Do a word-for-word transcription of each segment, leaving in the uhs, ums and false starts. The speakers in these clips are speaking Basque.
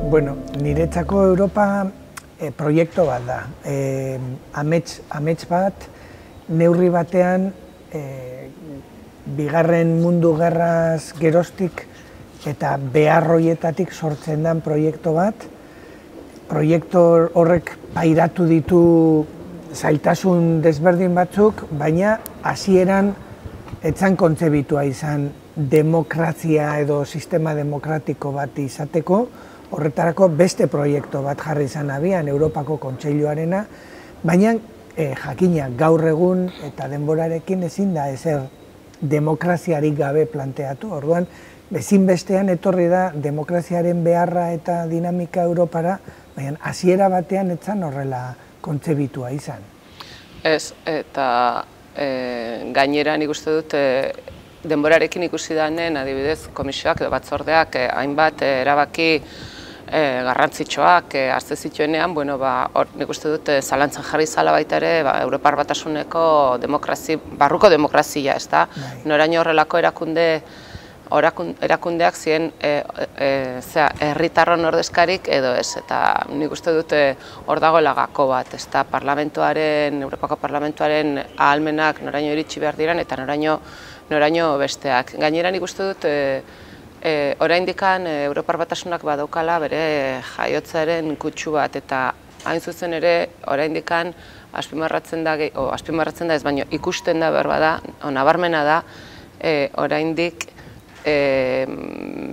Bueno, niretzako Europa e, proiektu bat da. E, amets, amets bat, neurri batean, e, bigarren mundu gerraz geroztik eta beharroietatik sortzen den proiektu bat. Proiektu horrek pairatu ditu zailtasun desberdin batzuk, baina hasieran etzan kontzebitua izan demokrazia edo sistema demokratiko bat izateko, horretarako beste proiektu bat jarri izan abian, Europako Kontseiluarena, baina e, jakina gaur egun eta denborarekin ezin da ezer demokraziarik gabe planteatu. Orduan, ezinbestean etorri da demokraziaren beharra eta dinamika Europara, baina hasiera batean etzan horrela kontzebitua izan. Ez, eta e, gainera nik uste dut e, denborarekin ikusi danen, adibidez, komisioak edo batzordeak e, hainbat e, erabaki e, garrantzitsuak e, hartze zituenean, bueno, ba, or, nik uste dut e, zalantzan jarri zala baita ere, ba, Europar Batasuneko demokrazi, barruko demokrazia, ez da? Noraino horrelako erakunde erakundeak ziren herritarron ordezkarik edo ez, eta nik uste dute hor dagoela gako bat, ez da, parlamentuaren, Europako parlamentuaren ahalmenak noraino iritsi behar diren eta noraino, noraino besteak. Gainera nik uste dut e, e, oraindikan Europar Batasunak badaukala bere jaiotzaren kutsu bat, eta hain zuzen ere oraindikan azpimarratzen da, o, azpimarratzen da ez baino ikusten da behar bada, o, nabarmena da, e, oraindik E,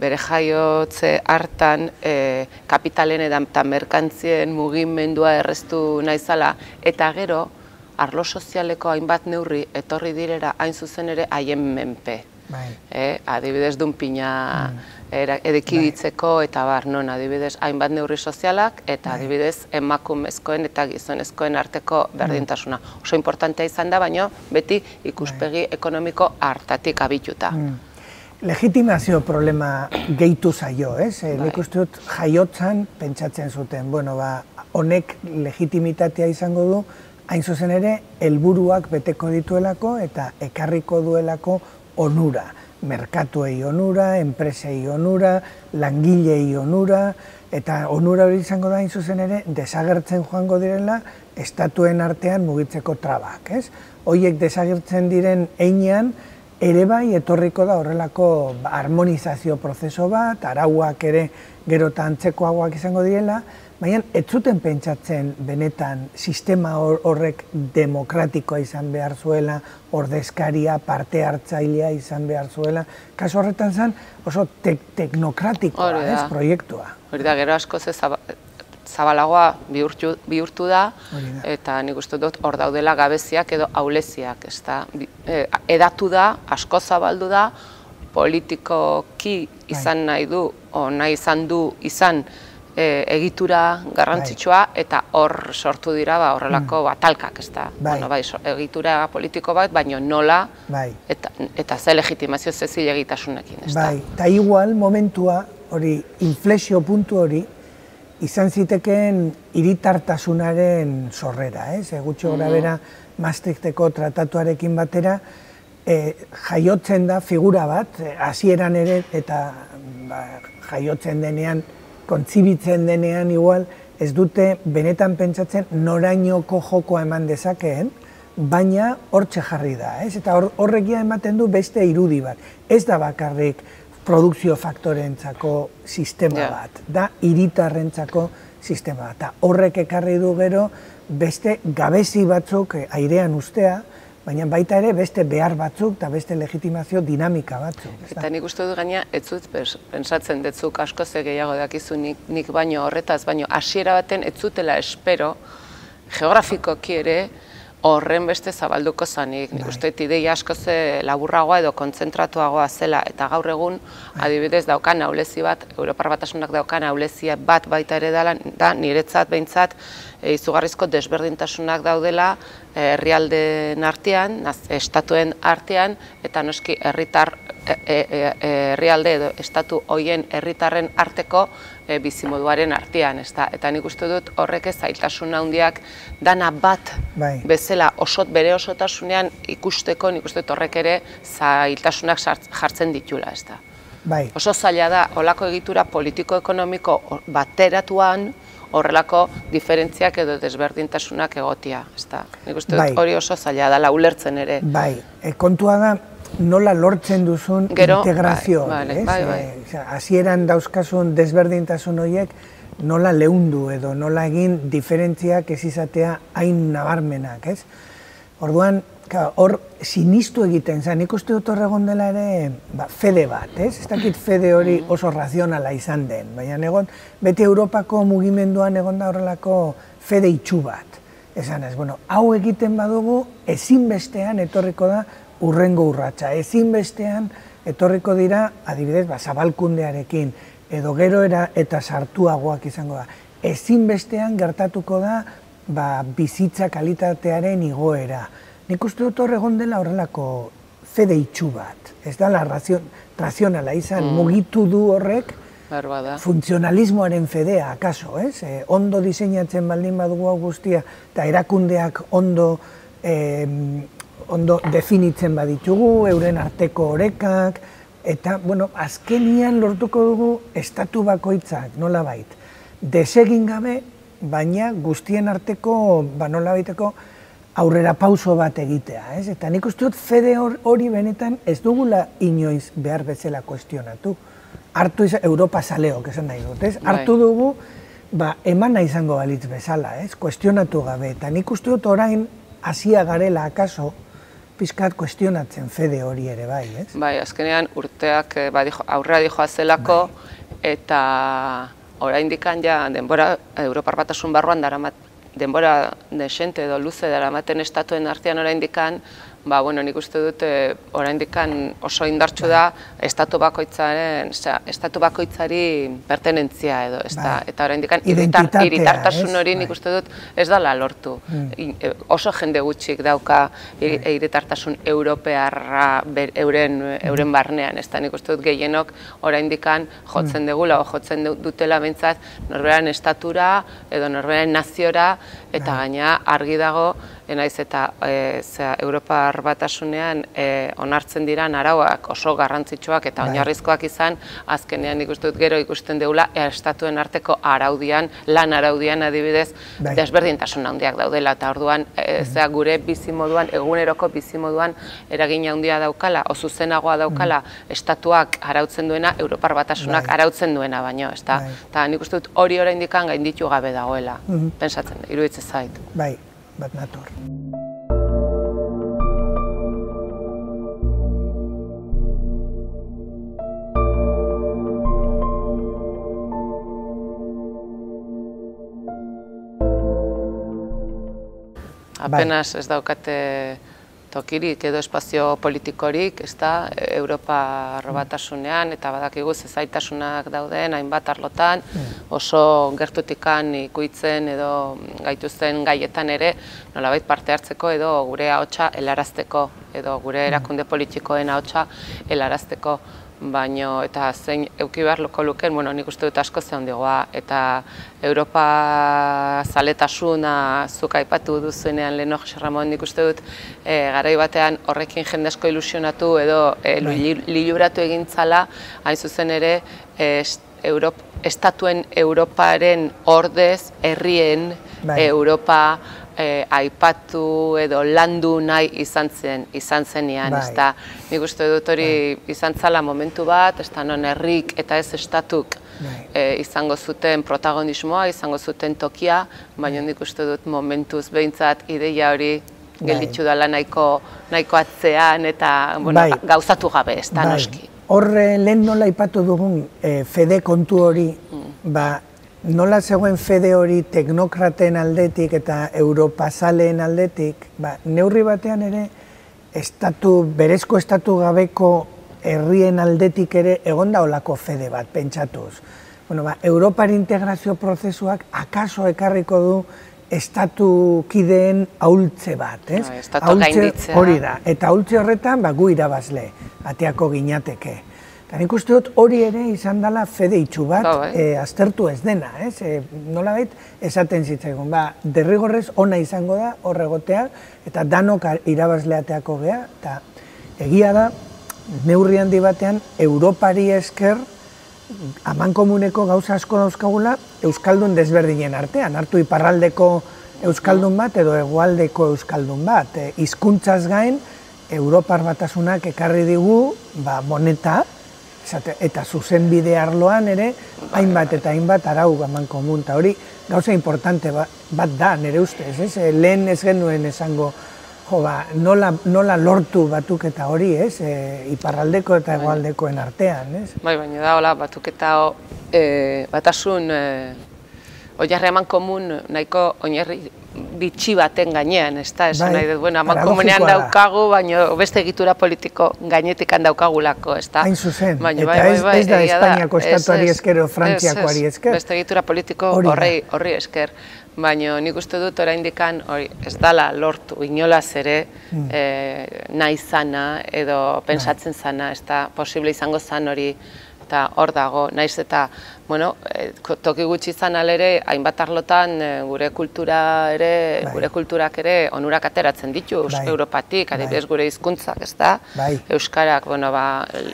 bere jaiotze hartan e, kapitalen eta merkantzien mugimendua erreztu naizala, eta gero arlo sozialeko hainbat neurri etorri direra hain zuzen ere haien menpe. E, adibidez dunpina edekiditzeko eta bar, non adibidez hainbat neurri sozialak eta adibidez emakumezkoen eta gizonezkoen arteko berdintasuna. Oso importantea izan da, baino beti ikuspegi ekonomiko hartatik abituta. Legitimazio problema gehitu zaio, ez? Nik uste dut jaiotzan pentsatzen zuten, bueno, ba, honek legitimitatea izango du, hain zuzen ere, helburuak beteko dituelako eta ekarriko duelako onura. Merkatuei onura, enpresei onura, langilei onura, eta onura hori izango da hain zuzen ere, desagertzen joango direla, estatuen artean mugitzeko trabak, ez? Horiek desagertzen diren heinean, ere bai etorriko da horrelako harmonizazio prozeso bat, arauak ere gero eta antzekoagoak izango direla, baina ez zuten pentsatzen benetan sistema horrek demokratikoa izan behar zuela, ordezkaria, parte hartzailea izan behar zuela. Kasu horretan zen oso teknokratikoa, ez, proiektua. Hori da, gero asko ze zabalagoa bihurtu da, eta nik uste dut hor daudela gabeziak edo ahuleziak, ez da, edatu da, asko zabaldu da, politikoki izan nahi du, o nahi izan du izan egitura garrantzitsua, eta hor sortu dira horrelako talkak, ez da, egitura politiko bat, baina nola, eta ze legitimazio ze zilegitasunekin, ez da. Bai, eta igual momentua, hori, inflexio puntu hori, izan zitekeen hiritartasunaren sorrera, ez? Gutxi gora bera Maastrichteko tratatuarekin batera, jaiotzen da figura bat, hasieran ere, eta jaiotzen denean, kontzibitzen denean igual, ez dute benetan pentsatzen norainoko jokoa eman dezakeen, baina hortxe jarri da, ez? Eta horrekia ematen du beste irudi bat. Ez da bakarrik produkzio faktorentzako sistema bat, da hiritarrentzako sistema bat. Horrek ekarri du gero beste gabezi batzuk airean ustea, baina baita ere beste behar batzuk eta beste legitimazio dinamika batzuk. Eta nik uste dut gaina, ez zut pensatzen detzuk asko ze gehiago dakizu nik baino horretaz, baino hasiera baten ez zutela espero geografikoki ere horren beste zabalduko zanik. Nik uste dut ideia asko ze laburragoa edo kontzentratuagoa zela, eta gaur egun adibidez daukan ahulezi bat, Europar Batasunak daukan ahulezi bat baita ere da, niretzat behintzat izugarrizko desberdintasunak daudela herrialdeen artean, estatuen artean, eta noski herritar herrialde edo estatu hoien herritarren arteko bizimoduaren artean, eta nik uste dut horrek ez zailtasun handiak dana bat bezala bere osotasunean ikusteko, nik uste dut horrek ere zailtasunak jartzen ditula, ez da. Bai. Oso zaila da, olako egitura politiko-ekonomiko bateratuan, horrelako diferentziak edo desberdintasunak egotia. Nik uste dut hori oso zaila da, ulertzen ere. Bai, kontua da nola lortzen duzun integrazio. Hasieran dauzkasun desberdintasun horiek nola leundu edo nola egin diferentziak ez izatea hain nabarmenak, ez? Orduan, hor sinistu egiten zen, nik uste dut hor egon dela ere fede bat, ez? Ez dakit fede hori oso razionala izan den, baina egon, beti Europako mugimenduan egon da horrelako fede itxu bat. Esan ez, bueno, hau egiten badugu, ezinbestean etorriko da urrengo urratsa, ezinbestean etorriko dira, adibidez, zabalkundearekin, edo gero eta sartuagoak izango da. Ezinbestean gertatuko da bizitza kalitatearen igoera. Nik uste dut hor egon dela horrelako fede itxu bat. Ez da razionala izan, mugitu du horrek funtzionalismoaren fedea, akaso, ez? Ondo diseinatzen baldin badugu hau guztia, eta erakundeak ondo definitzen baditugu, euren arteko orekak, eta, bueno, azkenian lortuko dugu estatu bakoitzak, nola bait. Desegin gabe, baina guztien arteko, ba nola baiteko, aurrera pauso bat egitea, ez? Eta nik uste dut fede hori benetan ez dugula inoiz behar bezala kuestionatu. Hartu izan, Europa zaleok esan nahi dut, ez? Hartu dugu, ba, emana izango balitz bezala, ez? Kuestionatu gabe. Eta nik uste dut orain, hasia garela akaso, pizkat kuestionatzen fede hori ere bai, ez? Bai, azkenean urteak aurrera dijoa zelako, eta oraindik ja denbora Europar Batasun barruan daramat, denbora desente edo luze daramaten estatuen artean oraindik, ba, bueno, nik uste dut oraindik oso indartsu da estatu bakoitzaren, estatu bakoitzari pertenentzia edo, eta oraindik hiritartasun hori nik uste dut ez dela lortu. Oso jende gutxik dauka hiritartasun europearra euren barnean, ez da nik uste dut gehienok oraindik jotzen degula, o jotzen dutela behintzat norberaren estatura edo norberaren naziora, eta gaina argi dago, naiz eta Europar Batasunean onartzen diran arauak oso garrantzitsuak eta oinarrizkoak izan, azkenean nik uste dut gero ikusten dugula estatuen arteko araudian, lan araudian adibidez, desberdintasun handiak daudela, eta orduan gure bizimoduan, eguneroko bizimoduan eragin handia daukala, o zuzenagoa daukala estatuak arautzen duena, Europar Batasunak arautzen duena baino, eta nik uste dut hori oraindik gainditu gabe dagoela, pentsatzen, iruditzen zait. Bai, bat nator. Apenas ez daukate tokirik edo espazio politikorik, ez da, Europar Batasunean, eta badakigu zailtasunak dauden, hainbat arlotan, oso gertutikan ikuitzen edo gaituzten gaietan ere, nolabait parte hartzeko edo gure ahotsa helarazteko, edo gure erakunde politikoen ahotsa helarazteko. Baina, eta zein euki behar loko luken, bueno, nik uste dut asko ze handigoa, eta Europa zaletasuna zuk aipatu duzuenean lehen Jose Ramon, nik uste dut garai batean horrekin jende asko ilusionatu edo liluratu egintzala, hain zuzen ere, estatuen Europaren ordez, herrien Europa aipatu edo landu nahi izan zen, izan zenean, ez da, nik uste dut hori izan zala momentu bat, ez da non herrik eta ez estatuk izango zuten protagonismoa, izango zuten tokia, baina nik uste dut momentuz behintzat ideia hori gelditu dela nahiko atzean eta gauzatu gabe, ez da noski. Horre lehen nola aipatu dugun fede kontu hori, ba, nola zegoen fede hori teknokraten aldetik eta europazaleen aldetik, neurri batean ere berezko estatu gabeko herrien aldetik ere egon da olako fede bat, pentsatuz. Europar integrazio prozesuak akaso ekarriko du estatu kideen ahultze bat, ez? Estatu gainditzea. Hori da, eta ahultze horretan gu irabazle, ateako ginateke. Eta nik uste dut hori ere izan dela fede itxu bat, aztertu ez dena, ez? Nolabait esaten zitzaigun, derrigorrez ona izango da horregotea, eta danok irabazleateako gea, eta egia da, neurri handi batean, Europari esker, amankomuneko gauza asko dauzkagula euskaldun desberdinen artean, hartu iparraldeko euskaldun bat edo hegoaldeko euskaldun bat. Hizkuntzaz gain, Europar Batasunak ekarri digu moneta, eta zuzenbide arloan ere, hainbat eta hainbat arau amankomun. Eta hori gauza importante bat da, nire ustez, lehen ez genuen esango, nola lortu batuketa hori, iparraldeko eta hegoaldekoen artean. Bai, baina da, hola, batuketa batasun oinarri amankomun nahiko oinarri bitxi baten gainean, ez da, esan nahi dut, bueno, amankomunean daukagu, baina beste egitura politiko gainetik handaukagulako, ez da. Hain zuzen, eta ez da Espainiako estatuari esker o Frantziakoari esker. Beste egitura politiko horri esker. Baina nik uste dut oraindik ez dala lortu inolaz ere nahi zana edo pensatzen zana, ez da posible izango zan hori eta hor dago, naiz eta toki gutxi izan alere, hainbat arlotan gure kultura ere, gure kulturak ere onurak ateratzen ditu Europatik, adibidez gure hizkuntzak, ez da? Euskarak,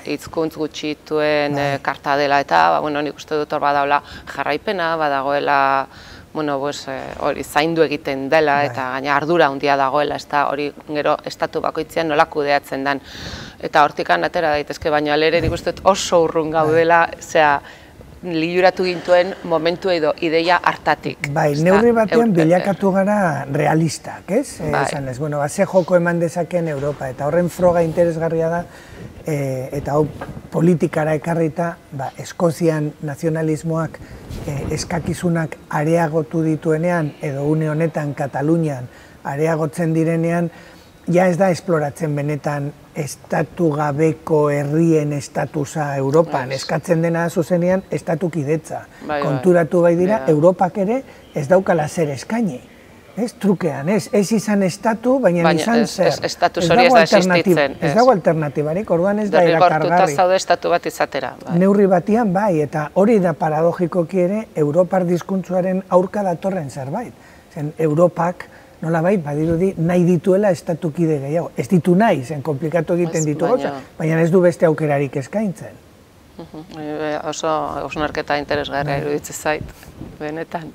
hizkuntz gutxituen karta dela eta nik uste dut hor badagoela jarraipena, badagoela hori zaindu egiten dela eta gaina ardura handia dagoela, hori gero estatu bakoitzean nola kudeatzen den. Eta hortikan atera daitezke, baina alere nik uste oso urrun gaudela, zera, liluratu gintuen momentu edo ideia hartatik. Bai, neurri batean bilakatu gara realistak, ez? Esan ez, bueno, ze joko eman dezaken Europa, eta horren froga interesgarria da, eta hau politikara ekarrita, Eskozian nazionalismoak eskakizunak areagotu dituenean, edo une honetan Katalunian areagotzen direnean, ja ez da esploratzen benetan estatu gabeko herrien estatusa Europan, eskatzen dena zuzenean estatukidetza. Konturatu bai dira, Europak ere ez daukala zer eskaini. Ez trukean, ez izan estatu, baina izan zer. Estatus hori ez da existitzen. Ez dago alternatibarik, orduan ez da erakargarri. Derrigortuta zaude estatu bat izatera. Neurri batian bai, eta hori da paradogikoki ere, Europar diskuntzuaren aurka datorren zerbait. Zen, Europak, nola bai, badirudi, nahi dituela estatukide gehiago. Ez ditu nahi, zen komplikatu egiten ditu gauza, baina ez du beste aukerarik eskaintzen. Oso hausnarketa interesgarria iruditzen zait, benetan.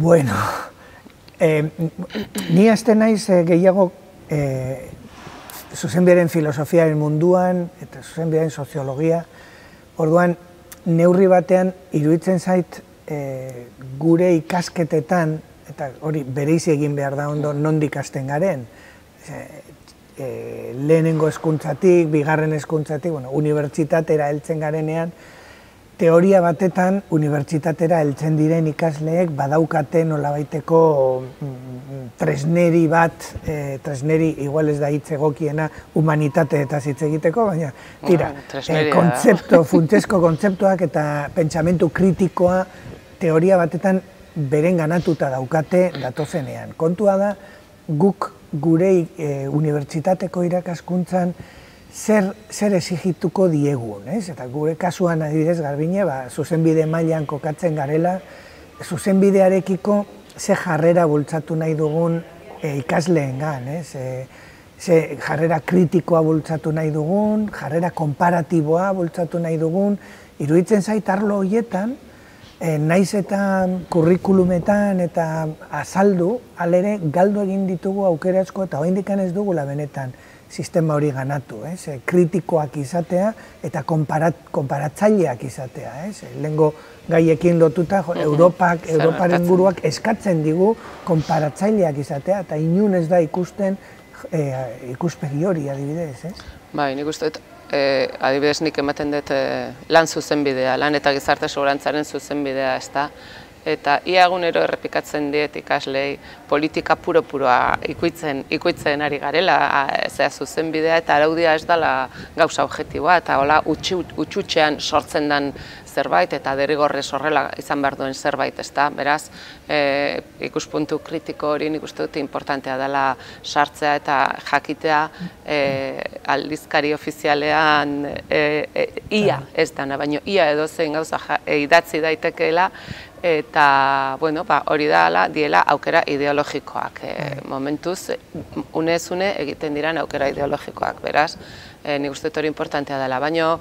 Bueno, ni hasten naiz gehiago zuzenbidearen filosofiaren munduan eta zuzenbidearen soziologia. Orduan, neurri batean iruditzen zait gure ikasketetan, eta hori bereizi egin behar da ondo nondik hasten garen, lehenengo hezkuntzatik, bigarren hezkuntzatik, unibertsitatera heltzen garenean, teoria batetan, unibertsitatera heltzen diren ikasleek badaukate nolabaiteko tresneri bat, tresneri igual ez da hitz egokiena humanitate eta hitz egiteko, baina tira, kontzeptu, funtsezko kontzeptuak eta pentsamentu kritikoa teoria batetan beren ganatuta daukate datozenean. Kontua da, guk gure unibertsitateko irakaskuntzan zer exigituko diegun, eta gure kasuan adibidez Garbine, zuzenbide mailan kokatzen garela, zuzenbidearekiko ze jarrera bultzatu nahi dugun ikasleengan, ze jarrera kritikoa bultzatu nahi dugun, jarrera konparatiboa bultzatu nahi dugun, iruditzen zait arlo horietan, naiz eta kurrikulumetan eta azaldu, alere galdu egin ditugu aukera asko eta oraindik ez dugula benetan sistema hori ganatu, kritikoak izatea eta konparatzaileak izatea. Lehengo gaiekin lotuta, Europak, Europaren guruak eskatzen digu konparatzaileak izatea eta inun ez da ikusten ikuspegi hori adibidez. Bai, nik uste dut, adibidez nik ematen dut lan zuzenbidea, lan eta gizarte segurantzaren zuzenbidea, ez da, eta ia egunero errepikatzen diet ikaslei politika puro-puroa ikuitzen, ikuitzen ari garela, zera zuzen bidea eta araudia ez dela gauza objektiboa, eta hola utxutxean sortzen den zerbait, eta derrigorrez horrela izan behar duen zerbait, ez da, beraz, e, ikuspuntu kritiko hori nik uste dut importantea dela sartzea eta jakitea e, aldizkari ofizialean e, e, ia ez dana, baina ia edozein gauza e, idatzi daitekeela, eta bueno, ba, hori da diela aukera ideologikoak. E, momentuz, unez une egiten diran aukera ideologikoak, beraz, e, nik uste dut hori importantea dela. Baina,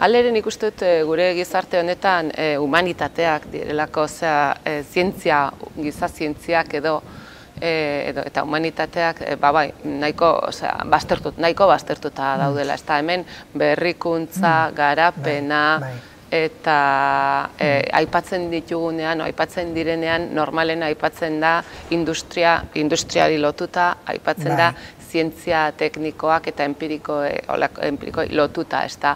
alere nik uste dut gure gizarte honetan e, humanitateak direlako, zera, e, zientzia, giza zientziak edo, e, edo eta humanitateak e, ba, bai, nahiko, osea, baztertut, nahiko baztertuta daudela. Ez da hemen berrikuntza, garapena, eta e, aipatzen ditugunean, o, aipatzen direnean, normalen aipatzen da industria, industriari lotuta, aipatzen da zientzia teknikoak eta empiriko, empiriko lotuta, ez da,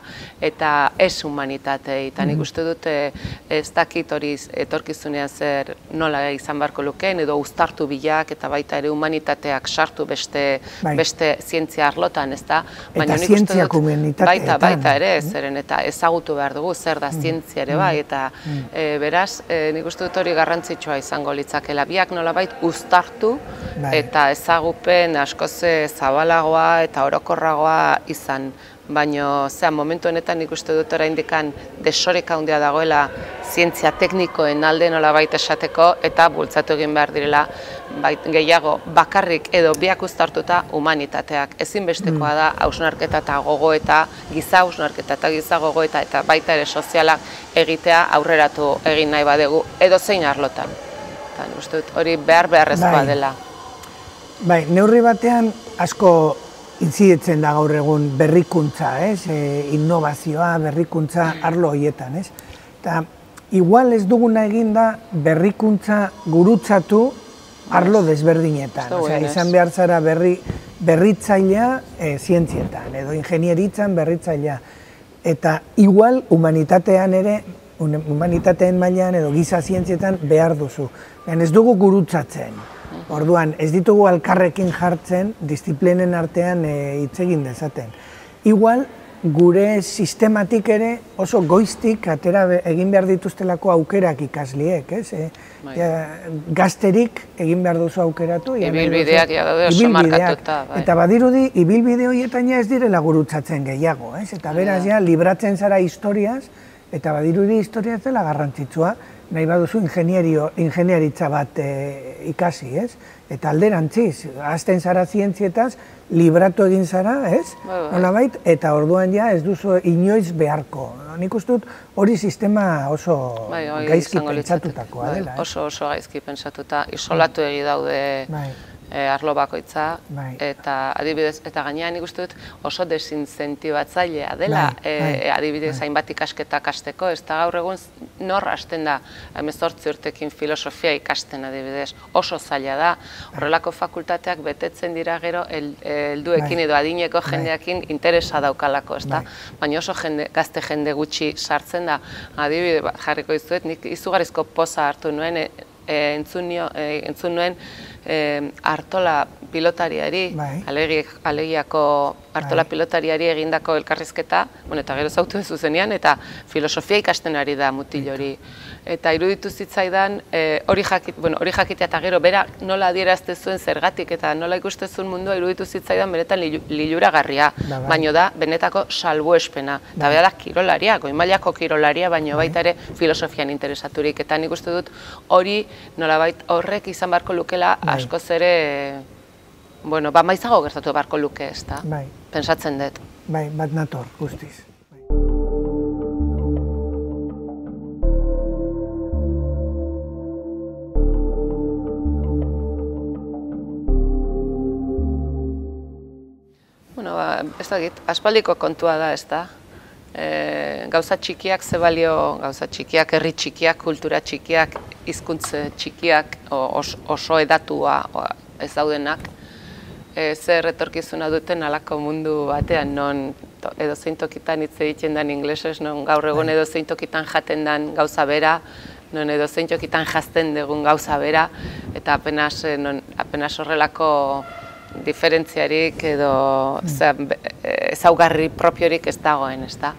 eta ez humanitatei, eta nik uste dut ez dakit hori etorkizunean zer nola izan beharko lukeen, edo uztartu bilak eta baita ere humanitateak sartu beste, beste zientzia arlotan, ez da. Eta zientziak humanitateetan. Baita, baita ere, zeren eta ezagutu behar dugu zer da zientzia ere bai, eta e, beraz, e, nik uste dut hori garrantzitsua izango litzakela. Biak nolabait uztartu eta ezagupen askoz zabalagoa eta orokorragoa izan. Baina, zera, momentu honetan nik uste dut oraindikan desoreka handia dagoela zientzia teknikoen alde nolabait esateko eta bultzatu egin behar direla gehiago bakarrik edo biak uztartuta humanitateak. Ezinbestekoa da hausnarketa eta gogoeta, giza hausnarketa eta giza gogoeta eta baita ere sozialak egitea aurreratu egin nahi badegu edo zein arlotan. Eta nik uste dut hori behar beharrezkoa dela. Bai, neurri batean asko intzidetzen da gaur egun berrikuntza, ez? E, innovazioa, berrikuntza arlo horietan, ez? Eta igual ez duguna egin da berrikuntza gurutzatu arlo desberdinetan. Osea, izan behar zara berri, berritzailea e, zientzietan, edo ingenieritzan berritzailea. Eta igual humanitatean ere, humanitateen mailan edo giza zientzietan behar duzu. Ez dugu gurutzatzen. Orduan, ez ditugu alkarrekin jartzen, disiplinen artean hitz egin dezaten. Igual, gure sistematik ere oso goiztik atera egin behar dituztelako aukerak ikasliek, ez? Gazterik egin behar duzu aukeratu. Ibilbideak ja daude oso markatuta. Eta badirudi, ibilbide horietan ja ez direla gurutzatzen gehiago, ez? Eta beraz ja, libratzen zara historiaz, eta badirudi historiaz dela garrantzitsua, nahi baduzu ingeniaritza bat ikasi, ez? Eta alderantziz, hasten zara zientzietaz, libratu egin zara, ez? Nolabait, eta orduan ja ez duzu inoiz beharko. Nik uste dut hori sistema oso gaizki pentsatutakoa dela. Oso oso gaizki pentsatuta, isolatu egi daude arlo bakoitza, eta adibidez, eta gainean nik uste dut oso desincentibatzailea dela, adibidez hainbat ikasketak hasteko, ez da gaur egun nor hasten da, hemezortzi urtekin filosofia ikasten adibidez, oso zaila da, horrelako fakultateak betetzen dira gero helduekin edo adineko jendeakin interesa daukalako, ez da, baina oso gazte jende gutxi sartzen da, adibidez jarriko izuet, nik izugarrizko poza hartu nuen, entzun nuen Artola pilotariari, alegiako Artola pilotariari egindako elkarrizketa, eta gero zautu ez zuzenean, eta filosofia ikasten ari da mutil hori. Eta iruditu zitzaidan, hori jakitea eta gero, bera nola adierazte zuen zergatik eta nola ikuste zuen mundua iruditu zitzaidan benetan liluragarria, baino da benetako salbuespena. Eta bera da kirolaria, goimailako kirolaria, baino baita ere filosofian interesaturik. Eta nik uste dut hori nolabait horrek izan beharko lukela askoz ere, bueno, ba maizago gertatu beharko luke, ez da? Pentsatzen dut. Bai, bat nator, guztiz. Bueno, ez dakit, aspaldiko kontua da, ez da? Gauza txikiak ze balio, gauza txikiak, herri txikiak, kultura txikiak, hizkuntza txikiak, oso edatua ez daudenak, zer etorkizuna duten halako mundu batean, non edozein tokitan hitz egiten den inglesez, non gaur egun edozein tokitan jaten den gauza bera, non edo zein tokitan jazten dugun gauza bera, eta apenas, non, apenas horrelako diferentziarik edo ezaugarri propiorik ez dagoen, ez da?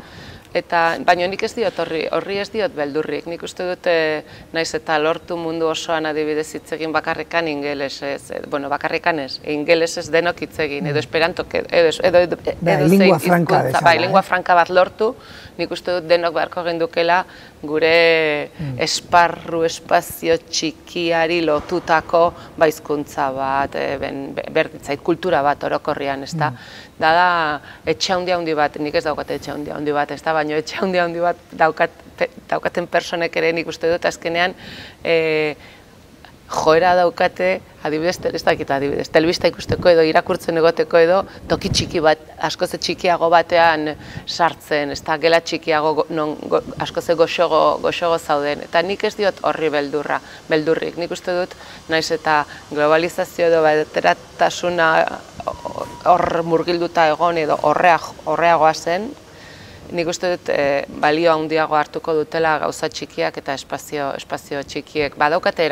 Eta, baina nik ez diot horri, horri ez diot beldurrik. Nik uste dute naiz eta lortu mundu osoan adibidez hitz egin bakarrikan ingelesez, bueno, bakarrikan ez, ingelesez denok hitz egin, edo esperantok, edo, edo, edo, edo zein hizkuntza, bai, lingua franka bat lortu, nik uste dut denok beharko gendukela gure esparru, espazio txikiari lotutako baizkuntza bat, berditzait, kultura bat orokorrian, ez da? Da da, etxe handi handi bat, nik ez daukat etxe handi handi bat, ez da, baina etxe handi handi bat daukaten personek ere nik uste dut azkenean joera daukate, adibidez, ez dakit adibidez, telebista ikusteko edo irakurtzen egoteko edo toki txiki bat, askoz txikiago batean sartzen, ez da, gela txikiago askoz goxogo zauden, eta nik ez diot horri beldurra, beldurrik, nik uste dut, naiz eta globalizazio edo bateratasuna hor murgilduta egon edo horreagoa zen, nik uste dut balio handiago hartuko dutela gauza txikiak eta espazio txikiek. Badaukate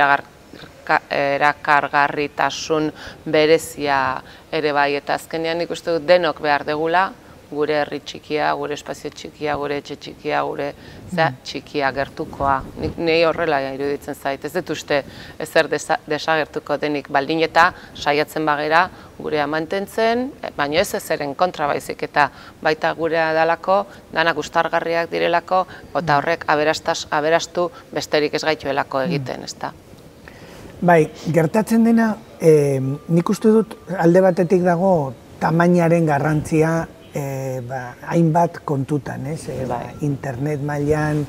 erakargarritasun berezia ere bai, eta azkenean nik uste dut denok behar degula, gure herri txikia, gure espazio txikia, gure etxe txikia, gure txikia gertukoa. Nei horrela iruditzen zait, ez dut uste ezer desagertuko denik baldin eta saiatzen bagera gurea mantentzen, baina ez ezeren kontra baizik eta baita gurea dalako, danak ustargarriak direlako, eta horrek aberastu besterik ez gaituelako egiten, ez da. Bai, gertatzen dena, nik uste dut alde batetik dago tamainaren garrantzia hainbat kontutan, internet mailan,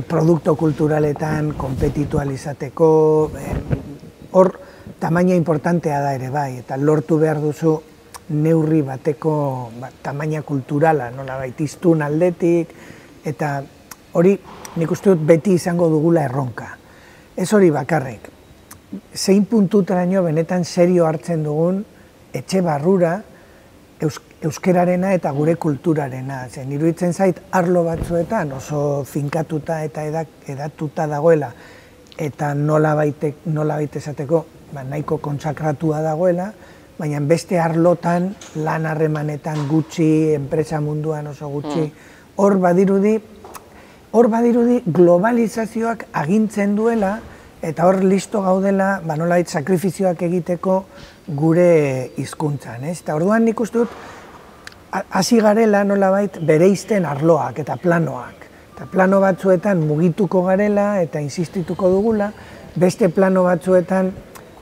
produkto kulturaletan, kompetitual izateko, hor tamaina importantea da ere bai, eta lortu behar duzu neurri bateko tamaina kulturala, nola baitiztun aldetik, eta hori nik uste dut beti izango dugula erronka. Ez hori bakarrik, zein puntutaraino benetan serio hartzen dugun etxe barrura, euskerarena eta gure kulturarena. Zen, iruditzen zait, arlo batzuetan oso finkatuta eta edatuta dagoela, eta nola baita esateko nahiko kontsakratua dagoela, baina beste arlotan, lan harremanetan gutxi, enpresa munduan oso gutxi, hor badirudi, hor badirudi globalizazioak agintzen duela, eta hor listo gaudela, nolabait sakrifizioak egiteko gure hizkuntzan. Eta orduan nik uste dut, hasi garela nolabait bereizten arloak eta planoak. Eta plano batzuetan mugituko garela eta insistituko dugula, beste plano batzuetan,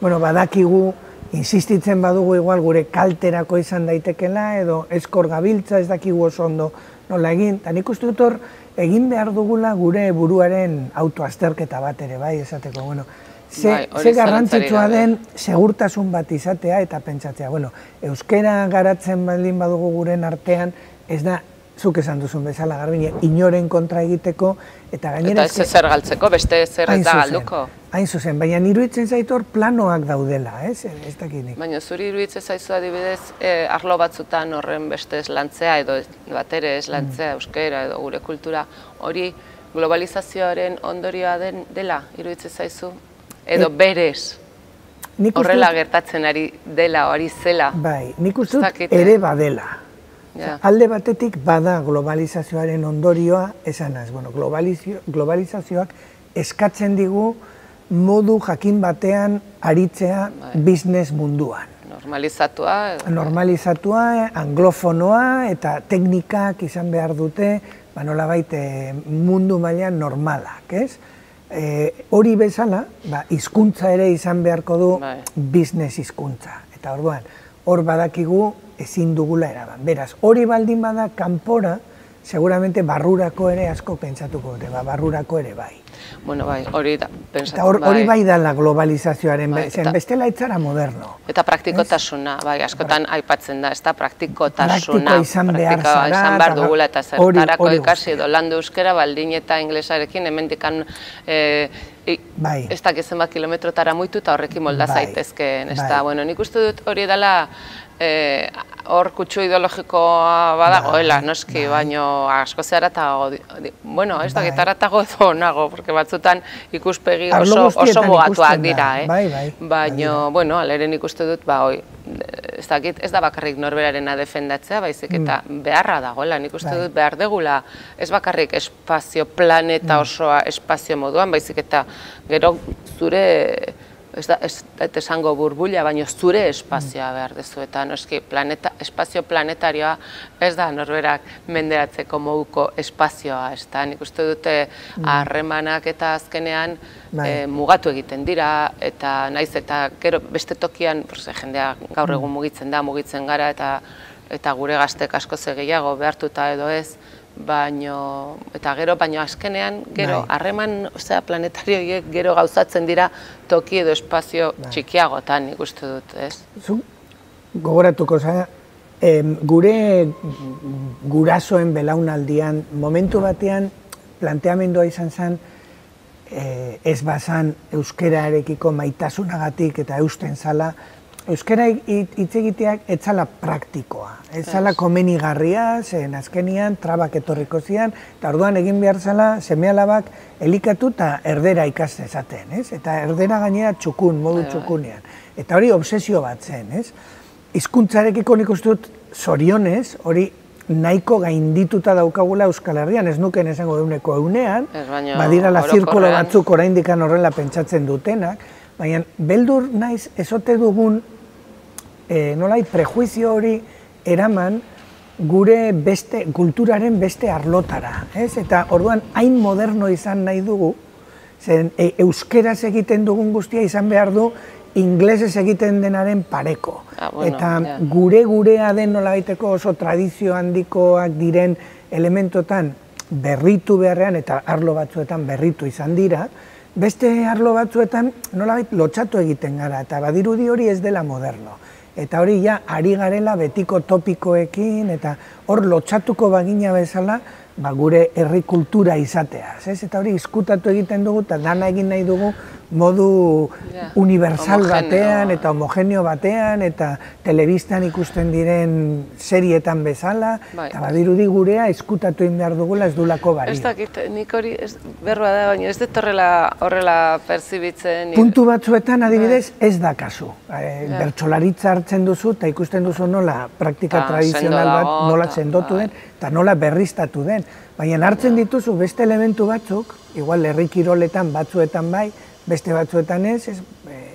bueno, badakigu, insistitzen badugu igual gure kalterako izan daitekela, edo eskor gabiltza, ez dakigu oso ondo nola egin. Eta nik uste dut hor, egin behar dugula gure buruaren autoazterketa bat ere, bai, esateko, bueno, ze garrantzitsua den segurtasun bat izatea eta pentsatzea, bueno, euskera garatzen baldin badugu guren artean, ez da, zuk esan duzun bezala Garbine, inoren kontra egiteko, eta gainera... Eta ez zer galtzeko, beste zer ez da galduko. Hain zuzen, baina iruditzen zaitu hor planoak daudela, ez dakinik. Baina zuri iruditzen zaizu adibidez, arlo batzutan horren beste ez lantzea, edo batere ez lantzea, euskera edo gure kultura, hori globalizazioaren ondorioa dela, iruditzen zaizu? Edo berez, horrela gertatzen ari dela, hori zela. Bai, nik uste dut ere badela. Alde batetik bada globalizazioaren ondorioa, esanaz, globalizazioak eskatzen digu modu jakin batean aritzea business munduan. Normalizatua. Normalizatua, anglofonoa eta teknikak izan behar dute, nolabait mundu mailan normalak, ez? Hori bezala, hizkuntza ere izan beharko du business hizkuntza. Eta orduan, hor badakigu ezin dugula eraban. Beraz, hori baldin bada kanpora, seguramente barrurako ere asko pentsatuko dute, barrurako ere bai. Bueno, bai, hori da, pentsatzen bai. Hori bai da la globalizazioaren, bestela etzara moderno. Eta praktikotasuna, bai, askotan aipatzen da, ez da praktikotasuna. Praktiko izan behar zara. Izan behar dugula eta zertarako ikasi edo landu euskera, baldin eta inglesarekin, hemendikan ez dakizen bat kilometrotara muitu eta horrekin molda zaitezkeen, ez da. Bueno, nik uste dut hori dela hor kutsu ideologikoa badagoela, noski, baino asko zeharatago, bueno, ez da, gitaratago edo nago, porque batzutan ikuspegi oso mugatuak dira, baino, bueno, aleren ikuste dut, ba, hoi, ez dakit, ez da bakarrik norberarena defendatzea, baizik eta beharra dagoela, nik uste dut behar degula, ez bakarrik espazio planeta osoa espazio moduan, baizik eta gero zure, ez da, ez esango burbuila, baina zure espazioa behar dezu, eta noski espazio planetarioa ez da norberak menderatzeko moduko espazioa, ez da, nik uste dute harremanak eta azkenean mugatu egiten dira, eta naiz eta gero beste tokian, jendea gaur egun mugitzen da, mugitzen gara, eta gure gaztek asko gehiago behartuta edo ez, baino, eta gero, baino azkenean, gero, harreman, osea, planetarioiek gero gauzatzen dira toki edo espazio txikiagotan, nik uste dut, ez? Zu, gogoratuko, osea, gure gurasoen belaunaldian, momentu batean, planteamendua izan zen, ez bazan euskerarekiko maitasunagatik eta eusten zala, euskera hitz egiteak ez zala praktikoa, ez zala komenigarria, zen azkenian trabak etorriko zian, eta orduan egin behar zala seme-alabak elikatu eta erdera ikas dezaten, ez? Eta erdera gainera txukun, modu txukunean. Eta hori obsesio bat zen, ez? Hizkuntzarekiko nik uste dut zorionez, hori nahiko gaindituta daukagula Euskal Herrian, ez nuken esango euneko eunean, badirala zirkulo batzuk oraindikan horrela pentsatzen dutenak, baina beldur naiz ezote dugun nolai prejuizio hori eraman gure beste, kulturaren beste arlotara, ez? Eta orduan hain moderno izan nahi dugu, zen euskeraz egiten dugun guztia izan behar du inglesez egiten denaren pareko. Eta gure gurea den nolabaiteko oso tradizio handikoak diren elementotan berritu beharrean eta arlo batzuetan berritu izan dira, beste arlo batzuetan nolabait lotxatu egiten gara, eta badirudi hori ez dela moderno. Eta hori ja, ari garela betiko topikoekin, eta hor lotxatuko bagina bezala, gure herri kultura izateaz. Eta hori izkutatu egiten dugu, eta dana egin nahi dugu modu universal batean, eta homogeneo batean, eta telebistan ikusten diren serietan bezala, eta badirudi gurea izkutatu egin behar dugula ez dulako bari. Ez dakit, nik hori berroa da, baina ez dut horrela perzibitzen. Puntu batzuetan adibidez ez da kasu. Bertsolaritza hartzen duzu, eta ikusten duzu nola praktika tradizional bat nola sendotu den, eta nola berriztatu den. Baina hartzen dituzu beste elementu batzuk, igual herri kiroletan batzuetan bai, beste batzuetan ez,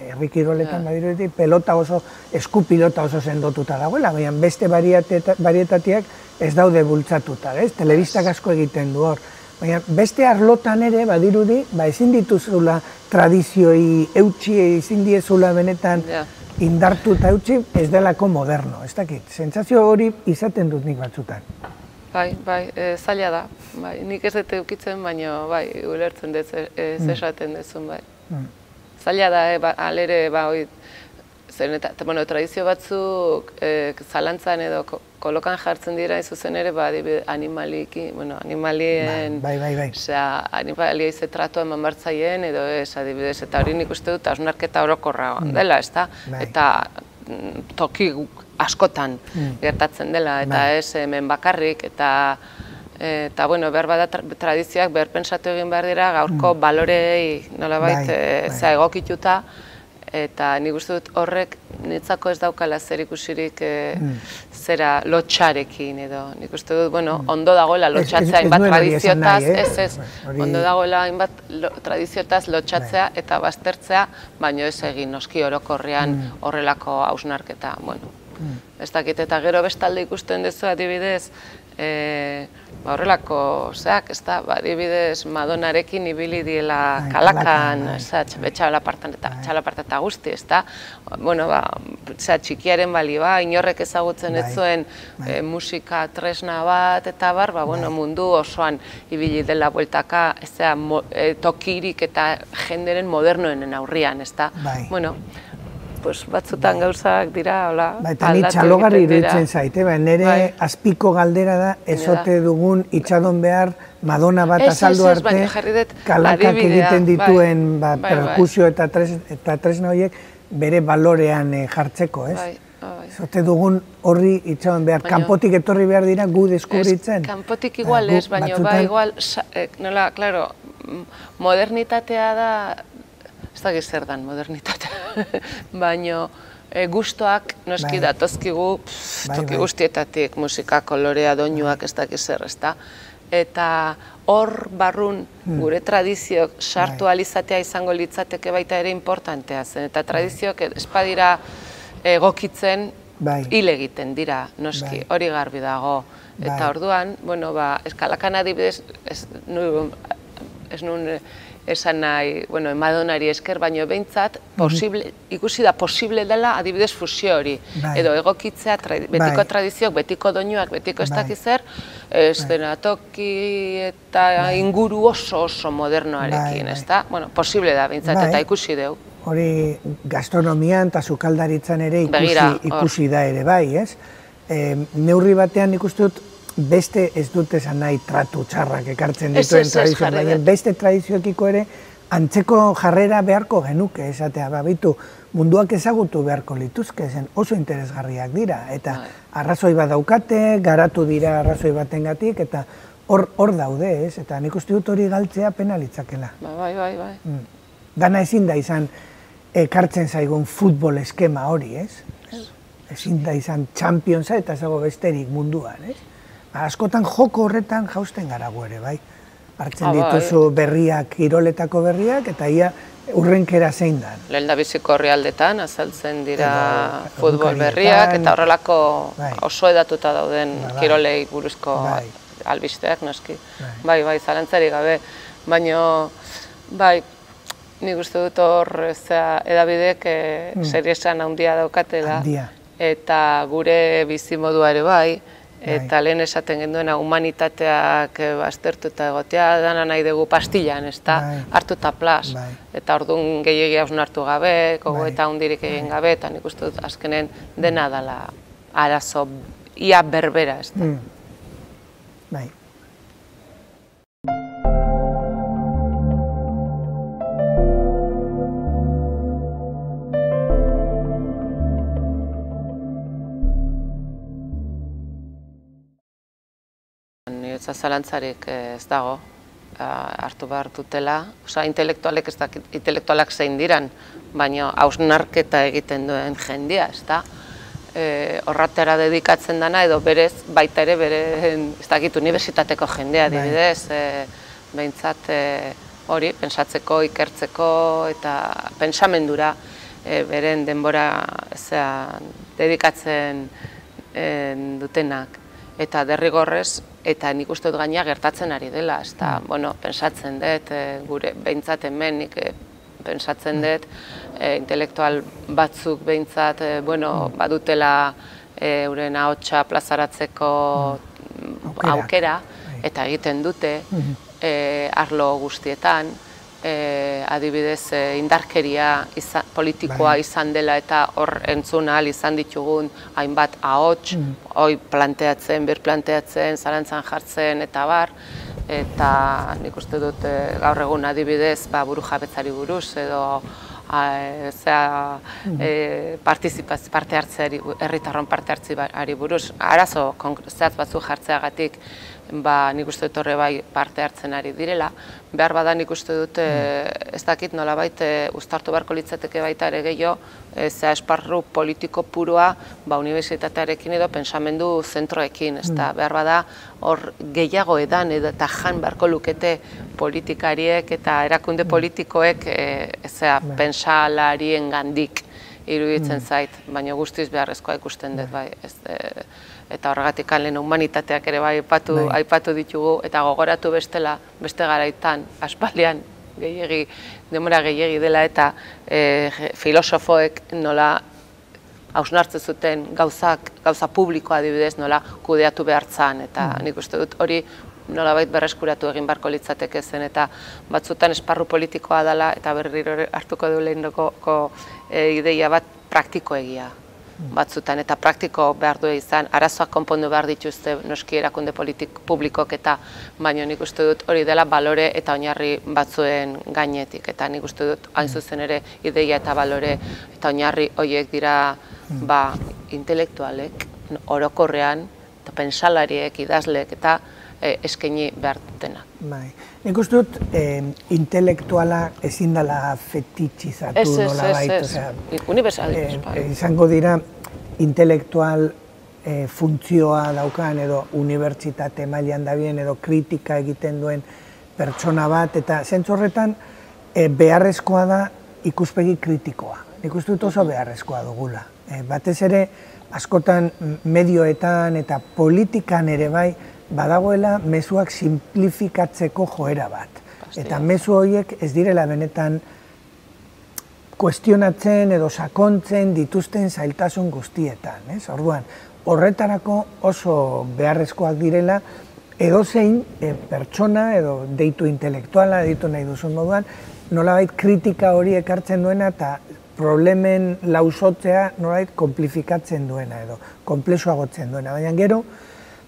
herri kiroletan badirudik, pelota oso, eskupilota oso sendotuta dagoela, baina beste barietatiak ez daude bultzatuta, ez? Telebistak asko egiten du hor. Baina beste arlotan ere badirudi, ezin dituzula tradizioi eutxi, ezin diezula benetan indartu eta eutxi, ez delako moderno, ez dakit. Sentsazio hori izaten dut nik batzutan. Bai, bai, zaila da. Nik ez dut eukitzen, baina bai, ulertzen dut ez esaten duzun, bai. Zaila da, alere, bai, tradizio batzuk zalantzan edo kolokan jartzen dira, izuzen ere, animaliki, animalien, animalia izetratu eman bartzaien, edo ez, adibidez, eta hori nik uste dut, hausnarketa orokorra dela, ez da? Eta toki askotan gertatzen dela, eta ez hemen bakarrik, eta eta, bueno, behar bada tradizioak behar pentsatu egin behar dira gaurko balorei nolabait egokituta, eta nik uste dut horrek nitzako ez daukala zer ikusirik zera lotxarekin edo. Nik uste dut, bueno, ondo dagoela lotxatzea hainbat tradiziotaz, ez ez, ondo dagoela hainbat tradiziotaz lotxatzea eta baztertzea, baino ez egin noski orokorrean horrelako hausnarketa, bueno. Ez dakit, eta gero bestalde ikusten duzu adibidez, horrelako, zeak, ez da, adibidez Madonarekin ibili diela kalakan, txalapartan eta guzti, ez da, bueno, txikiaren balioa, inorrek ezagutzen ez zuen musika tresna bat, eta bar, mundu osoan ibili dela bueltaka, ez da, tokirik eta jenderen modernoenen aurrian, ez da, bueno, batzutan gauzak dira, hola, aldatu egiten dira. Eta ni txalogarri iruditzen zaite, nire azpiko galdera da ezote dugun itxadon behar Madonna bat azaldu arte, kalakak egiten dituen perkusio eta tresna horiek bere balorean jartzeko, ez? Zote dugun horri itxaban behar, kanpotik etorri behar dira gu deskubritzen. Kanpotik igual ez, baina ba igual, nola, klaro, modernitatea da, ez da zer dan modernitatea, baina gustoak noski datozkigu toki guztietatik, musika, kolorea, doinuak, ez dakiz zer, ez da. Eta hor barrun gure tradizioak sartu alizatea izango litzateke baita ere importantea zen. Eta tradizioak espadira egokitzen hil egiten dira, noski, hori garbi dago. Eta orduan, bueno, ba, eskalakan adibidez, ez nun esan nahi, bueno, Madonari esker, baino behintzat, ikusi da posible dela adibidez fusio hori. Edo egokitzea betiko tradizioak, betiko doinuak, betiko ez dakiz zer, eszenatoki eta inguru oso oso modernoarekin, ez da? Bueno, posible da behintzat eta ikusi dugu. Hori gastronomian eta sukaldaritzan ere ikusi da ere bai, ez? Neurri batean ikusi dut beste ez dut esan nahi tratu txarrak ekartzen dituen tradizioak, baina beste tradizioekiko ere antzeko jarrera beharko genuke, esatea, babitu, munduak ezagutu beharko lituzke, zen oso interesgarriak dira, eta arrazoi bat daukate, garatu dira arrazoi batengatik, eta hor daude, ez? Eta nik uste dut hori galtzea penalitzakela. Bai, bai, bai. Dana ezin da izan ekartzen zaigun futbol eskema hori, ez? Ezin da izan Championsa eta zago besterik munduan, ez? Askotan joko horretan jausten gara gu ere, bai? Hartzen dituzu berriak, kiroletako berriak, eta ia urrenkera zein da. Lehen da biziko herrialdetan azaltzen dira futbol berriak, eta horrelako oso edatuta dauden kirolei buruzko albisteak, noski. Bai, bai, zalantzari gabe. Baina, bai, nik uste dut hor edabidek seriesan handia daukatela, eta gure bizimodua ere bai, eta lehen esaten genduena humanitateak aztertu eta egotea dana nahi dugu pastillan, ez da, hartu eta plas. Eta orduan gehiagia hausnartu gabe, gogoeta hundirik egin gabe, eta nik uste dut azkenen dena dela arazo ia berbera, ez da. Bai. Niretzat zalantzarik ez dago, hartu behar dutela, oza, intelektualek ez dakit, intelektualak zein diran, baina hausnarketa egiten duen jendia, ez da? Horratera dedikatzen dana, edo berez, baita ere, bere, ez dakit, unibertsitateko jendea, adibidez, behintzat hori, pentsatzeko, ikertzeko, eta pentsamendura, beren denbora dedikatzen dutenak. Eta derrigorrez, eta nik uste dut gaina gertatzen ari dela, ez da, bueno, pentsatzen dut, gure behintzat hemen, nik pentsatzen dut, intelektual batzuk behintzat, bueno, badutela euren ahotsa plazaratzeko aukera, eta egiten dute, arlo guztietan, adibidez indarkeria politikoa izan dela eta hor entzun ahal izan ditugun hainbat ahots, hoi planteatzen, birplanteatzen, zalantzan jartzen eta bar, eta nik uste dut gaur egun adibidez buru jabetzari buruz edo parte hartzeari, herritarron parte hartzeari buruz, arazo zehatz batzuk jartzeagatik nik uste dut horre bai parte hartzen ari direla. Behar bada nik uste dut, ez dakit nolabait uztartu beharko litzateke baita ere gehiago, zea esparru politiko purua unibertsitatearekin edo pensamendu zentroekin. Behar bada hor gehiago edan eta jan beharko lukete politikariek eta erakunde politikoek pensalarien gandik iruditzen zait, baina guztiz beharrezkoa ikusten dut bai. Eta horregatik lehen humanitateak ere bai aipatu ditugu, eta gogoratu bestela, beste garaitan, aspaldian, gehiegi, demora gehiegi dela, eta filosofoek nola hausnartzen zuten gauzak, gauza publikoa adibidez, nola kudeatu behartzan, eta nik uste dut hori nolabait berreskuratu egin beharko litzateke zen, eta batzutan esparru politikoa dela, eta berriro hartuko du lehenoko ideia bat praktikoegia. Batzutan, eta praktiko behar du izan, arazoak konpondu behar dituzte noski erakunde publikok eta baino nik uste dut hori dela balore eta oinarri batzuen gainetik, eta nik uste dut hain zuzen ere ideia eta balore eta oinarri horiek dira ba, intelektualek, orokorrean, eta pentsalariek, idazleek, eta eskaini behar dutenak. Bai. Nik uste dut, intelektuala ezin dela fetitxizatu nola bait. Ez, ez, ez, universalituz. Izango dira, intelektual funtzioa daukan edo unibertsitate mailan dabien edo kritika egiten duen pertsona bat, eta zentzu horretan beharrezkoa da ikuspegi kritikoa. Nik uste dut oso beharrezkoa dugula. Batez ere, askotan medioetan eta politikan ere bai, badagoela mezuak simplifikatzeko joera bat. Eta mezu horiek ez direla benetan kuestionatzen edo sakontzen dituzten zailtasun guztietan. Orduan, horretarako oso beharrezkoak direla edozein pertsona edo deitu intelektuala, deitu nahi duzun moduan, nolabait kritika hori ekartzen duena eta problemen lausotzea nolabait konplifikatzen duena edo konplexuagotzen duena. Baina gero,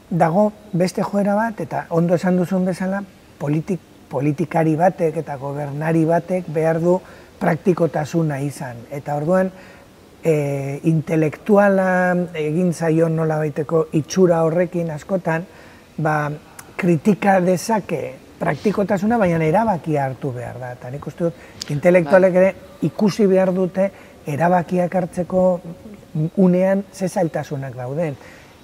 dago beste joera bat, eta ondo esan duzun bezala, politikari batek eta gobernari batek behar du praktikotasuna izan. Eta orduan, intelektuala egin zaion nola baiteko itxura horrekin askotan, kritika dezake praktikotasuna, baina erabakia hartu behar da. Eta nik uste dut, intelektualek ere ikusi behar dute erabakiak hartzeko unean ze zailtasunak dauden.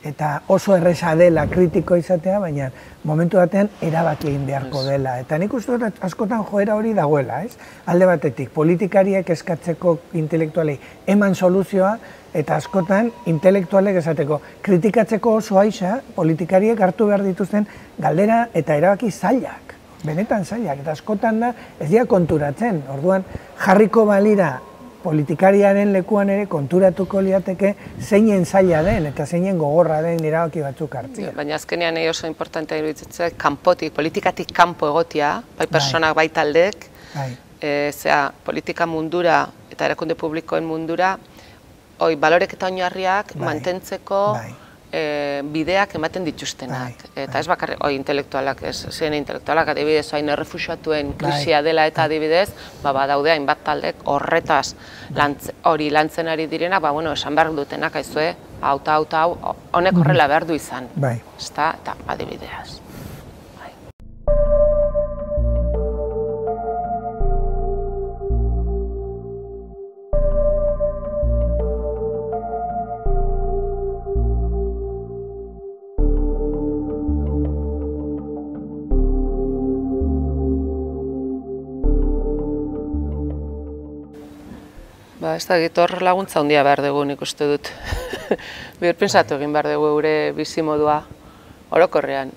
Eta oso erresa dela kritiko izatea, baina momentu batean erabaki egin beharko dela. Eta nik uste dut askotan joera hori dagoela, ez? Alde batetik, politikariek eskatzeko intelektualei eman soluzioa, eta askotan intelektualek esateko kritikatzeko oso aixa, politikariek hartu behar dituzten galdera eta erabaki zailak, benetan zailak. Eta askotan da ez dira konturatzen, orduan jarriko balira politikariaren lekuan ere konturatuko liateke zeinen zaila den eta zeinen gogorra den erabaki batzuk hartzea. Baina azkenean nahi oso importantea iruditzen kanpotik, politikatik kanpo egotia, bai personak, bai taldeek, zera politika mundura eta erakunde publikoen mundura, hoi balorek eta oinarriak mantentzeko bideak ematen dituztenak. Eta ez bakarrik, hoi intelektualak, ez zen intelektualak, adibidez, hain errefuxiatuen krisia dela eta adibidez, badaude hainbat taldek horretaz hori lantzen ari direnak, ba, bueno, esan behar dutenak, aizue, hau eta hau eta hau, honek horrela behar du izan. Eta adibideaz. Ez da, hor laguntza handia behar dugu nik uste dut. Birpentsatu egin behar dugu gure bizimodua orokorrean.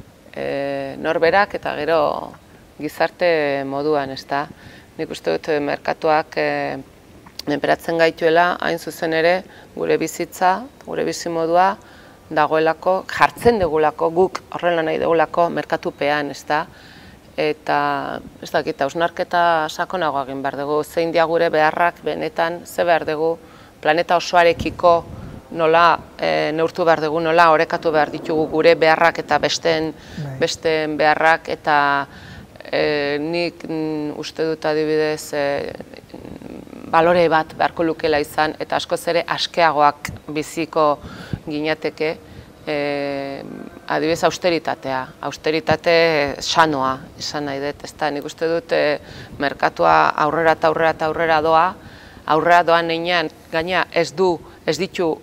Norberak eta gero gizarte moduan, ez da. Nik uste dut merkatuak menperatzen gaituela, hain zuzen ere gure bizitza, gure bizimodua dagoelako, jartzen dugulako, guk horrela nahi dugulako merkatupean, ez da. Eta, ez dakit, hausnarketa sakonagoa egin behar dugu, zein dia gure beharrak benetan, ze behar dugu, planeta osoarekiko nola neurtu behar dugu, nola orekatu behar ditugu gure beharrak eta besteen beharrak, eta nik uste dut adibidez balore bat beharko lukela izan, eta askoz ere askeagoak biziko ginateke, adibidez austeritatea, austeritate sanoa izan nahi dut, ez da, nik uste dut merkatua aurrera eta aurrera eta aurrera doa, aurrera doan neinean, gaina ez du, ez ditu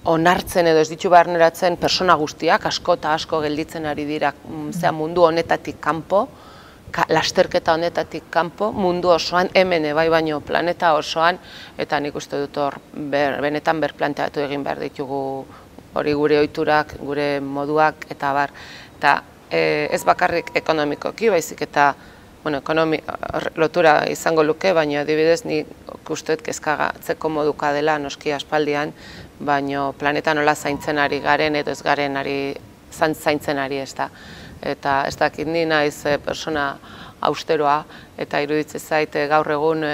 onartzen edo ez ditu barneratzen persona guztiak, asko eta asko gelditzen ari dira mundu honetatik kanpo, lasterketa honetatik kanpo, mundu osoan, hemen bai baino planeta osoan, eta nik uste dut hor benetan berplanteatu egin behar ditugu hori gure ohiturak, gure moduak, eta bar, eta ez bakarrik ekonomikoki, baizik eta lotura izango luke, baina adibidez nik uste dut kezkatzeko moduka dela noski aspaldian, baina planeta nola zaintzen ari garen edo ez garen zaintzen ari ez da. Eta ez dakit ni naiz persona austeroa, eta iruditzen zait gaur egun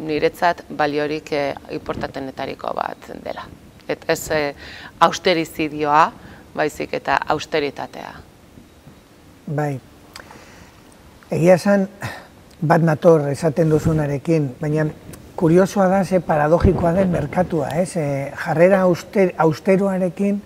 niretzat baliorik inportantenetariko bat dela. Eta ez austerizidioa, baizik eta austeritatea. Bai, egia esan bat nator esaten duzunarekin, baina kuriosoa da, ze paradogikoa den merkatua, ez? E, jarrera auster, austeroarekin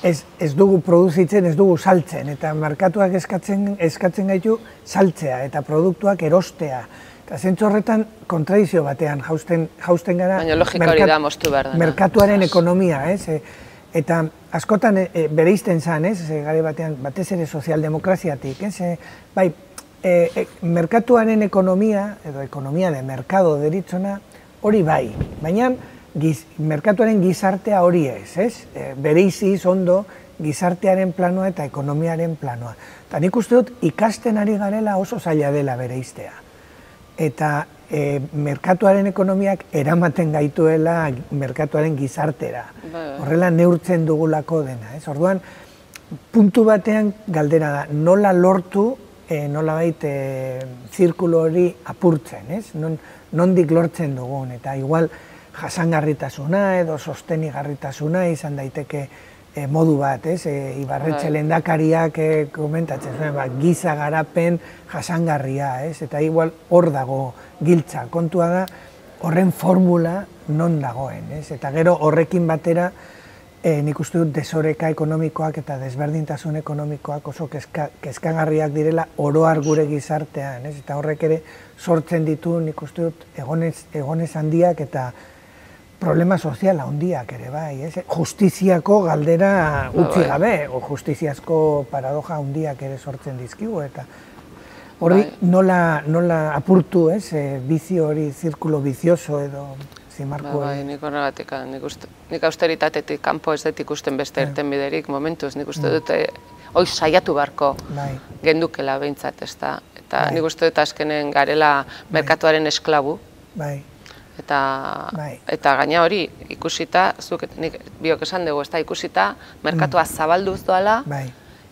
ez, ez dugu produzitzen, ez dugu saltzen, eta merkatuak eskatzen, eskatzen gaitu saltzea, eta produktuak erostea. Eta zentzu horretan kontradizio batean jausten, jausten gara baina logika hori da moztu behar dena. Merkatuaren ekonomia, ez? E, eta askotan e, bereizten zen, ez? E, gare batean, batez ere sozialdemokraziatik, ez? E, bai, e, e, merkatuaren ekonomia, edo ekonomia de merkado deritzona, hori bai, baina giz, merkatuaren gizartea hori ez, ez? E, bereiziz ondo gizartearen planoa eta ekonomiaren planoa. Eta nik uste dut ikasten ari garela oso zaila dela bereiztea. Eta e, merkatuaren ekonomiak eramaten gaituela merkatuaren gizartera. Horrela neurtzen dugulako dena, ez? Orduan, puntu batean galdera da, nola lortu, e, nola bait, e, zirkulo hori apurtzen, ez? Non, nondik lortzen dugun, eta igual jasangarritasuna edo sostenigarritasuna izan daiteke e, modu bat, ez? E, Ibarretxe lehendakariak e, komentatzen zuen, ba, giza garapen jasangarria, ez? Eta igual hor dago giltza, kontua da horren formula non dagoen, ez? Eta gero horrekin batera e, nik uste dut desoreka ekonomikoak eta desberdintasun ekonomikoak oso kezka, kezkagarriak direla oroar gure gizartean, ez? Eta horrek ere sortzen ditu nik uste dut egonez, egonez handiak eta problema soziala handiak ere bai, ez? Justiziako galdera utzi gabe, o justiziazko paradoja handiak ere sortzen dizkigu, eta hori nola, nola apurtu, ez? E, bizio hori, zirkulo bizioso edo zimarko hori. Bai, nik horregatik, nik, nik austeritatetik kanpo ez dut ikusten beste irten biderik momentuz, nik uste dute hoi saiatu barko gendukela behintzat, ez da? Eta nik uste dut azkenen garela merkatuaren esklabu. Bai. Eta, eta gaina hori ikusita, zuk nik biok esan dugu, ez da ikusita, merkatua zabalduz doala,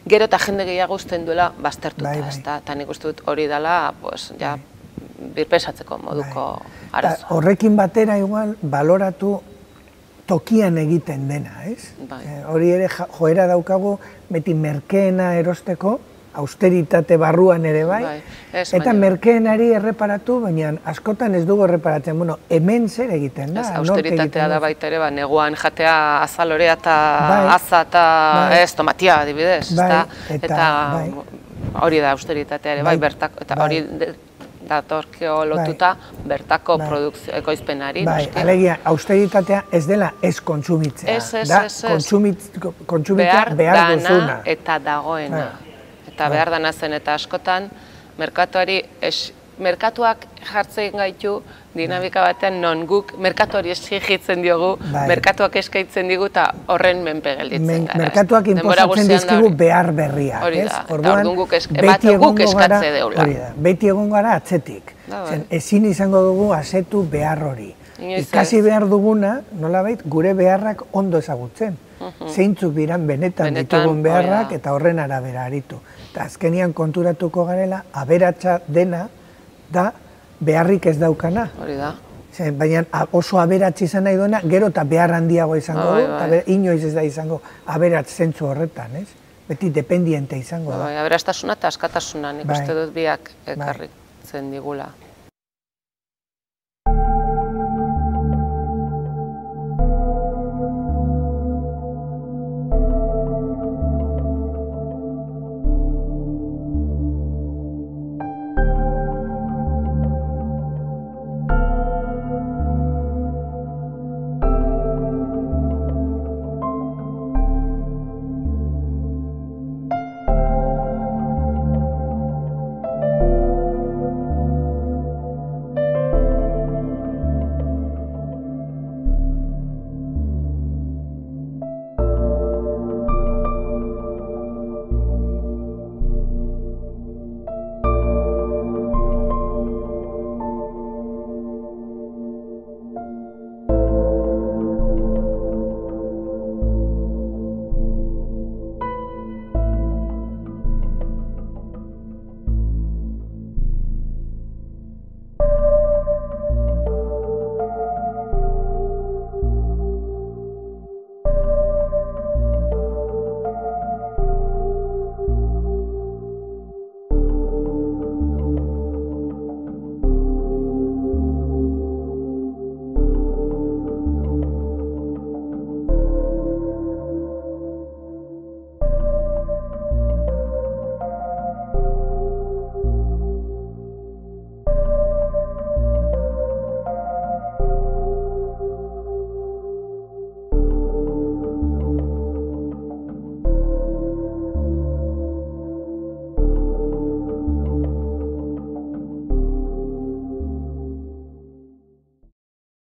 gero eta jende gehiago uzten duela baztertuta, ez da, eta nik uste dut hori dela, pues, ja, birpesatzeko moduko arazoa. Horrekin batera igual, baloratu tokian egiten dena, ez? Hori ere joera daukagu, beti merkeena erosteko, austeritate barruan ere bai, eta merkeenari erreparatu, baina askotan ez dugu erreparatzen, bueno, hemen zer egiten da. Austeritatea da baita ere, neguan jatea azalorea eta aza eta ez, tomatia adibidez, eta hori da austeritatea ere, bai, bertako, eta hori datorkio lotuta bertako produkzio ekoizpenari. Alegia, austeritatea ez dela ez kontsumitzea, da kontsumitzea behar duzuna. Eta dagoena. Eta behar dana zen eta askotan, merkatuari, merkatuak jartzen gaitu dinamika batean non guk merkatuari exigitzen diogu, merkatuak eskaintzen digu eta horren menpe gelditzen gara. Merkatuak inposatzen dizkigu behar berriak. Hori da, orduan guk eskatze deula. Beti egon gara atzetik. Ezin izango dugu asetu behar hori. Ikasi behar duguna, nolabait, gure beharrak ondo ezagutzen. Zeintzuk diran benetan ditugun beharrak eta horren arabera aritu. Eta azkenian konturatuko garela, aberatsa dena da beharrik ez daukana. Hori da. Baina oso aberatsa izan nahi duena, gero eta behar handiago izango du, eta inoiz ez da izango aberats zentzu horretan, ez? Beti dependiente izango da. Aberastasuna eta askatasuna, nik uste dut biak ekarritzen digula.